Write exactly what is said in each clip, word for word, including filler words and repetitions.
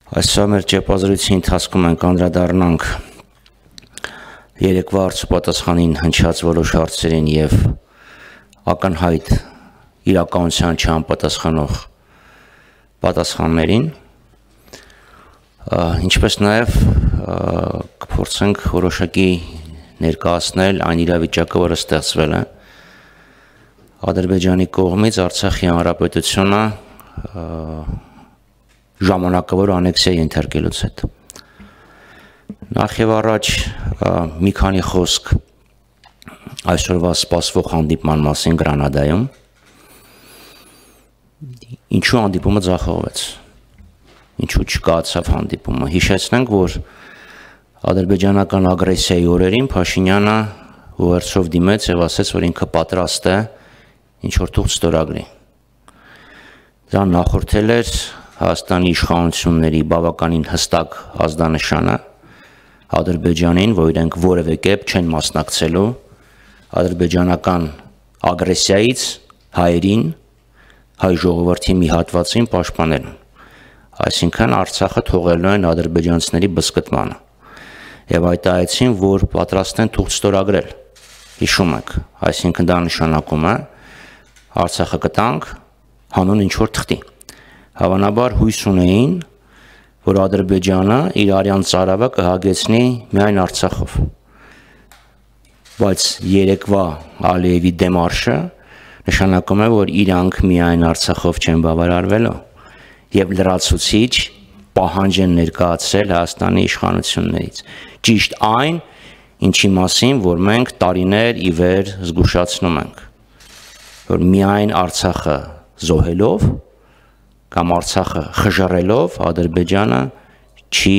Այսօր մեր ճեպազրույցի ընթացքում ենք անդրադառնանք երեկվա հարցապատասխանին հնչած որոշ հարցերին եւ ակնհայտ իրականության չհամապատասխանող պատասխաններին, ինչպես նաեւ կփորձենք որոշակի ներկայացնել այն իրավիճակը, որը ստեղծվել է Ադրբեջանի կողմից Արցախի հանրապետությունը ժամանակավոր անեքսիա ենթարկելուց հետո։ Նախ եւ առաջ մի քանի խոսք այսօրվա սպասվող հանդիպման մասին Գրանադայում։ Ինչու հանդիպումը ձախողվեց։ Ինչու չկայացավ հանդիպումը։ Հիշեցնենք, որ ադրբեջանական ագրեսիայի օրերին Փաշինյանը ուղերձով դիմեց եւ ասաց, որ ինքը պատրաստ է ինչ որ թուղթ ստորագրի։ Դա նախորդել էր Հայաստանի իշխանությունների բավականին հստակ ազդանշանը Ադրբեջանին, որ իրենք որևէ կերպ չեն մասնակցելու ադրբեջանական ագրեսիայից հայերին, հայ ժողովրդի մի հատվածին պաշտպանելու։ Այսինքն Արցախը թողելու են ադրբեջանցիների բզկտմանը։ Եվ հայտարարեցին, որ պատրաստ են թուղթ ստորագրել։ Հիշում եք, այսինքն դա նշանակում է Արցախը կտանք հանուն ինչ որ թղթի։ Հավանաբար հույս ունեին, որ Ադրբեջանը իր արյան ծարավը կհագեցնի միայն Արցախով։ Բայց երեկվա Ալիևի դեմարշը նշանակում է, որ իրանք միայն Արցախով չեն բավարարվելու եւ լրացուցիչ պահանջ են ներկայացրել Հայաստանի իշխանություններից։ Ճիշտ այն, ինչի մասին, որ մենք տարիներ ի վեր զգուշացնում ենք, որ միայն Արցախը զոհելով կամ Արցախը խժռելով Ադրբեջանը չի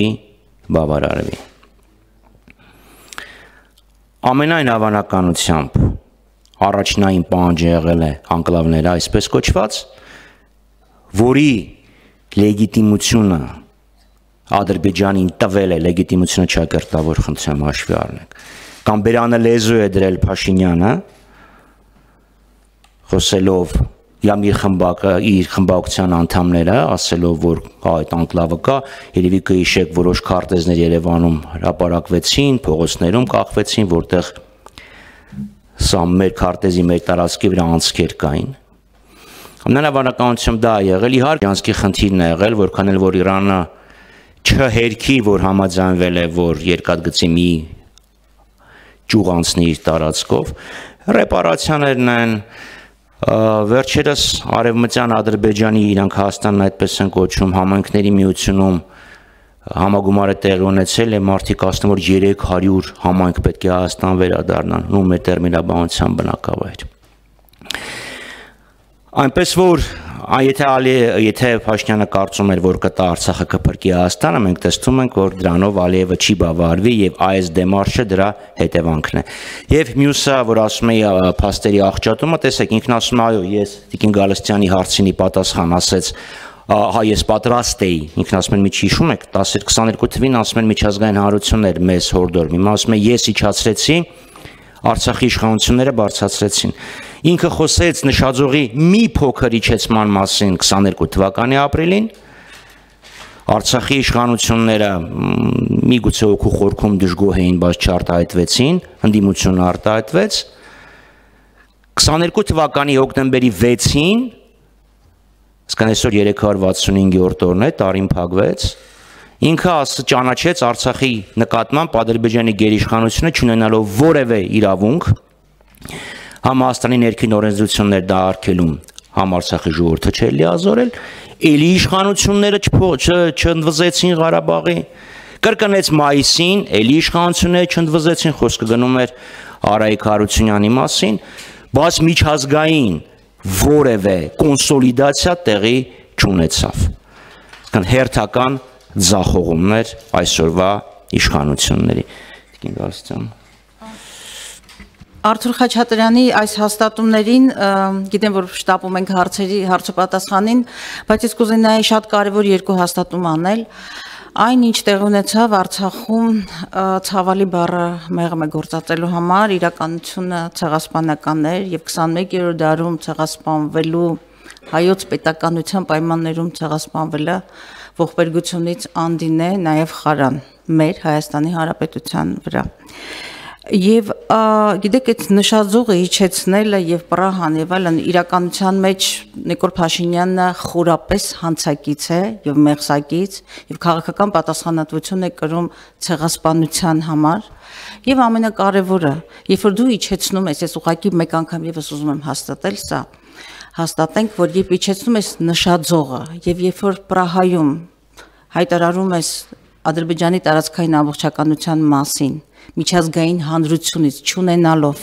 բավարարվի։ Ամենայն հավանականությամբ առաջնային պահանջը եղել է անկլավները այսպես կոչված, որի լեգիտիմությունը Ադրբեջանին տվել է, լեգիտիմությունը ճակերտավոր խնդրեմ հաշվի առնենք, կամ բերանը լեզու է դրել Փաշինյանը, խոսելով կամ իր խմբակը, իր խմբակցության անդամները, ասելով, որ այդ անկլավը կա, երևի կհիշեք որոշ քարտեզներ Երևանում հրապարակվեցին, փողոցներում կախվեցին, որտեղ սա մեր քարտեզի մեր տարածքի վրա անցքեր կային։ Ամենավանականությամբ դա է եղել, իհարկե անցքի խնդիրն է եղել, որքան էլ որ Իրանը չհերքի, որ համաձայնվել է, որ երկաթգծի մի ճյուղ անցնի իր տարածքով, ռեպարացիաներն են, վերջերս Արևմտյան Ադրբեջանի, իրանք Հայաստանն այդպես են կոչում, համայնքների միությունում համագումար է տեղի ունեցել, եւ մարդիկ ասում որ երեք հարյուր համայնք պետք է Հայաստան վերադառնան, ու մեր տերմինաբանության բնակավայր։ Այնպես որ եթե եթե Փաշինյանը կարծում էր, որ կտա Արցախը կփրկի Հայաստանը, մենք տեսնում ենք, որ դրանով Ալիևը չի բավարարվի եւ այս դեմարշը դրա հետևանքն է։ Եվ մյուսը, որ ասում է փաստերի աղճատումը, տեսեք, ինքն ասում է, այո, ես Տիկին Գալստյանի հարցինի պատասխան ասեց, հա ես պատրաստ էի, ինքն ասում է, մի հիշում եք, տասը քսաներկու թվականին ասում են միջազգային հանրություններ մեզ հորդորում, հիմա ասում է ես իջացրեցի, Արցախի իշխանությունները բարձրացրեցին։ Ինքը խոսեց նշաձողի մի փոքր իջեցման մասին քսաներկու թվականի ապրիլին, Արցախի իշխանությունները միգուցե օգու խորքում դժգոհ էին, բայց չարտահայտվեցին, ընդդիմությունը արտահայտվեց։ քսաներկու թվականի հոկտեմբերի վեցին, այսինքն այսօր երեք հարյուր վաթսունհինգերորդ օրն է, տարին փակվեց, ինքը ճանաչեց Արցախի նկատմամբ Ադրբեջանի գերիշխանությունը չունենալով որևէ իրավունք համ Հայաստանի ներքին օրենսդրություններ դա արգելում, համ Արցախի ժողովուրդը չէր լիազորել, էլի իշխանությունները չընդվզեցին Ղարաբաղի, կրկնեց մայիսին, էլի իշխանությունները չընդվզեցին, խոսքը գնում էր Արայիկ Հարությունյանի մասին, բայց միջազգային որևէ կոնսոլիդացիա տեղի չունեցավ։ Հերթական ձախողումներ այսօրվա իշխանությունների։ Տիկին Գալստյան։ Արթուր Խաչատրյանի այս հաստատումներին գիտեմ, որ շտապում ենք հարցերի հարցոպատասխանին, բայց ես կուզենայի շատ կարևոր երկու հաստատում անել։ Այն ինչ տեղ ունեցավ Արցախում ցավալի բառը մեղմ է գործածելու համար, իրականությունը ցեղասպանական էր եւ քսաներկերորդ դարում ցեղասպանվելու հայոց պետականության պայմաններում ցեղասպանվելը ողբերգությունից անդին է նաև խարան մեր Հայաստանի Հանրապետության վրա։ Եվ գիտեք, այդ նշաձողը իջեցնելը եւ պրահան եւ այլն իրականության մեջ Նիկոլ Փաշինյանը խորապես հանցակից է եւ մեղսակից եւ քաղաքական պատասխանատվություն է կրում ցեղասպանության համար եւ ամենակարևորը, երբ որ դու իջեցնում ես, ես ուղղակի մեկ անգամ եւս ուզում եմ հաստատել սա, հաստատենք, որ երբ իջեցնում ես նշաձողը եւ երբ որ Պրահայում հայտարարում ես Ադրբեջանի տարածքային ամբողջականության մասին, միջազգային հանրությունից չունենալով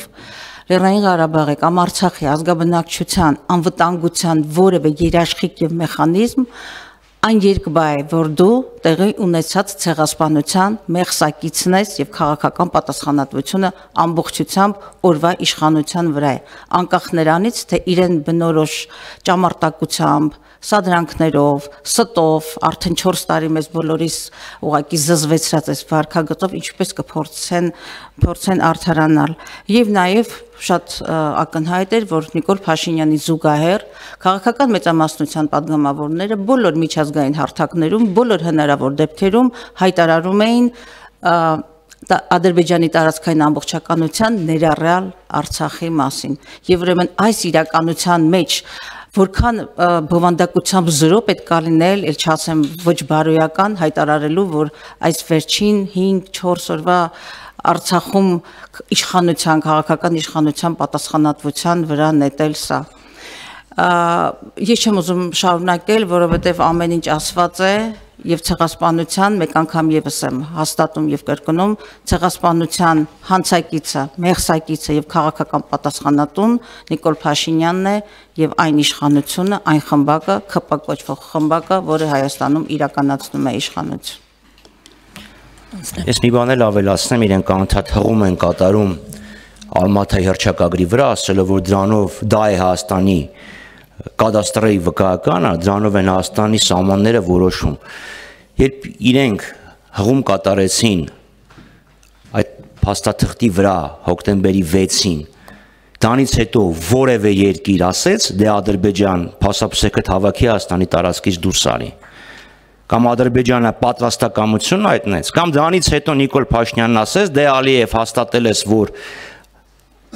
Լեռնային Ղարաբաղի կամ Արցախի ազգաբնակչության անվտանգության որևէ երաշխիք եւ մեխանիզմ, այն երկբա է, որ դու տեղի ունեցած ցեղասպանության մեղսակիցն ես եւ քաղաքական պատասխանատվությունը ամբողջությամբ օրվա իշխանության վրա է, անկախ նրանից, թե իրեն բնորոշ ճամարտակությամբ, սադրանքներով, ստով, արդեն չորս տարի մեզ բոլորիս ուղղակի զզվեցրած այս վարքագծով ինչպես կփորձեն փորձեն արդարանալ եւ նաեւ շատ ակնհայտ էր, որ Նիկոլ Փաշինյանի զուգահեռ քաղաքական մեծամասնության падգամավորները բոլոր միջազգային հարթակներում, բոլոր հնարավոր դեպքերում հայտարարում էին Ադրբեջանի տարածքային ամբողջականության ներառյալ Արցախի մասին։ Եվ ուրեմն այս իրականության մեջ որքան բովանդակությամբ զրո պետք է լինել, ել չասեմ ոչ բարոյական հայտարարելու, որ այս վերջին հինգ-չորս օրվա Արցախում իշխանության, քաղաքական իշխանության պատասխանատվության վրա նետել սա։ Ես չեմ ուզում շարունակել, որովհետև ամեն ինչ ասված է եւ ցեղասպանության մեկ անգամ եւս եմ հաստատում եւ կրկնում ցեղասպանության հանցակիցը, մեղսակիցը եւ քաղաքական պատասխանատուն Նիկոլ Փաշինյանն է եւ այն իշխանությունը, այն խմբակը, ՔՊ կոչվող խմբակը, որը Հայաստանում իրականացնում է իշխանություն։ Ես մի բան էլ ավելացնեմ, իրենք անդադ հղում են կատարում Ալմաթայի հռչակագրի վրա, ասելով որ դրանով դա է Հայաստանի կադաստրի վկայականը, դրանով են Հայաստանի սահմանները որոշում։ Երբ իրենք հղում կատարեցին այդ փաստաթղթի վրա հոկտեմբերի վեցին, դրանից հետո որևէ երկիր ասեց, դե Ադրբեջան փաստաբսեքը հավաքի Հայաստանի տարածքից դուրս արի։ Կամ Ադրբեջանը պատրաստակամություն հայտնեց, կամ դրանից հետո Նիկոլ Փաշինյանն ասեց, դե Ալիև հաստատել ես, որ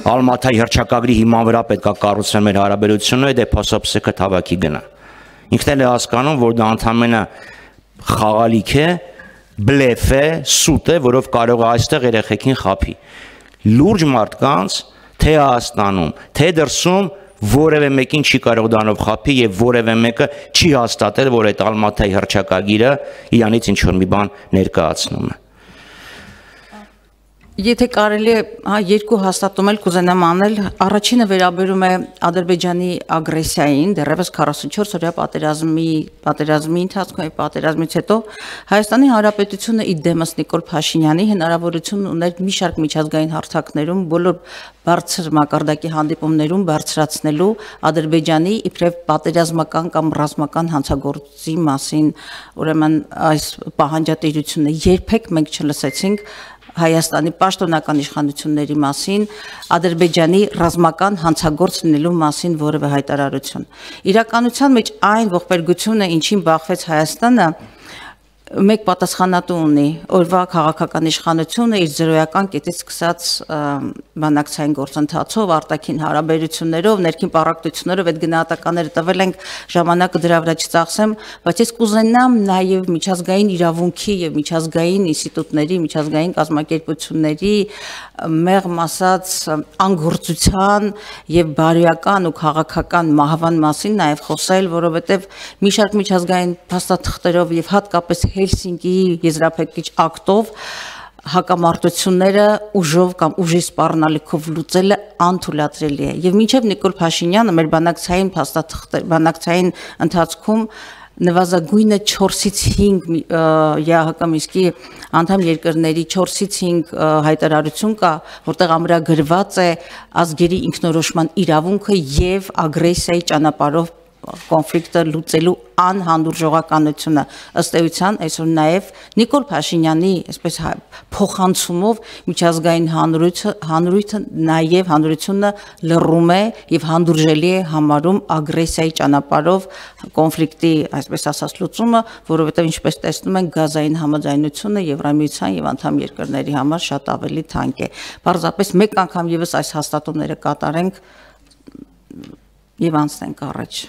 Ալմաթայի հռչակագրի հիման վրա պետք է կառուցել մեր հարաբերությունները, դե փաստաբսեքը հավաքի գնա։ Ինքն էլ է հասկանում, որ դա ընդամենը խաղալիք է, բլեֆ է, սուտ է, որով կարող է այստեղ երեխեքին խաբի։ Լուրջ մարդկանց թե Հայաստանում, թե դրսում որևէ մեկին չի կարող դրանով խաբի եւ որևէ մեկը չի հաստատել, որ այդ Ալմաթայի հռչակագիրը իրանից ինչ որ մի բան ներկայացնում է։ Եթե կարելի է, հա, երկու հաստատում էլ կուզենամ անել, առաջինը վերաբերում է Ադրբեջանի ագրեսիային, դեռևս քառասունչորս օրյա պատերազմի, պատերազմի ընթացքում եւ պատերազմից հետո Հայաստանի Հանրապետությունը ի դեմս Նիկոլ Փաշինյանի հնարավորություն ուներ մի շարք միջազգային հարթակներում բոլոր բարձր մակարդակի հանդիպումներում բարձրացնելու Ադրբեջանի իբրև պատերազմական կամ ռազմական հանցագործի մասին, ուրեմն այս պահանջատիրությունը երբեք մենք չլսեցինք Հայաստանի պաշտոնական իշխանությունների մասին, Ադրբեջանի ռազմական հանցագործ լինելու մասին որևէ հայտարարություն։ Իրականության մեջ այն ողբերգությունը, ինչին բախվեց Հայաստանը, մեկ պատասխանատու ունի, օրվա քաղաքական իշխանությունը իր զրոյական կետից սկսած բանակցային գործընթացով, արտաքին հարաբերություններով, ներքին պարակտություններով այդ գնահատականները տվել ենք, ժամանակը դրա վրա չծախսեմ, բայց ես կուզենամ նաև միջազգային իրավունքի եւ միջազգային ինստիտուտների, միջազգային կազմակերպությունների մեղմ ասած անգործության եւ բարոյական ու քաղաքական մահվան մասին նաև խոսել, որովհետեւ մի շարք միջազգային փաստաթղթերով եւ հատկապես Հելսինկիի եզրափակիչ ակտով հակամարտությունները ուժով կամ ուժի սպառնալիքով լուծելը անթույլատրելի է։ Եվ մինչև Նիկոլ Փաշինյանը մեր բանակցային փաստաթղթեր, բանակցային ընթացքում նվազագույնը չորսից հինգ ԵԱՀԿ Մինսկի անդամ երկրների չորսից հինգ հայտարարություն կա, որտեղ ամրագրված է ազգերի ինքնորոշման իրավունքը եւ ագրեսիայի ճանապարհով կոնֆլիկտը լուծելու անհանդուրժողականությունը ըստ էության այսօր նաև Նիկոլ Փաշինյանի այսպես փոխանցումով միջազգային հանրույթը հանրույթը նաև հանրությունը լռում է եւ հանդուրժելի է համարում ագրեսիայի ճանապարհով կոնֆլիկտի այսպես ասած լուծումը, որովհետեւ ինչպես տեսնում ենք գազային համաձայնությունը Եվրամիության եւ անդամ երկրների համար շատ ավելի թանկ է։ Պարզապես մեկ անգամ եւս այս հաստատումները կատարենք եւ անցնենք առաջ։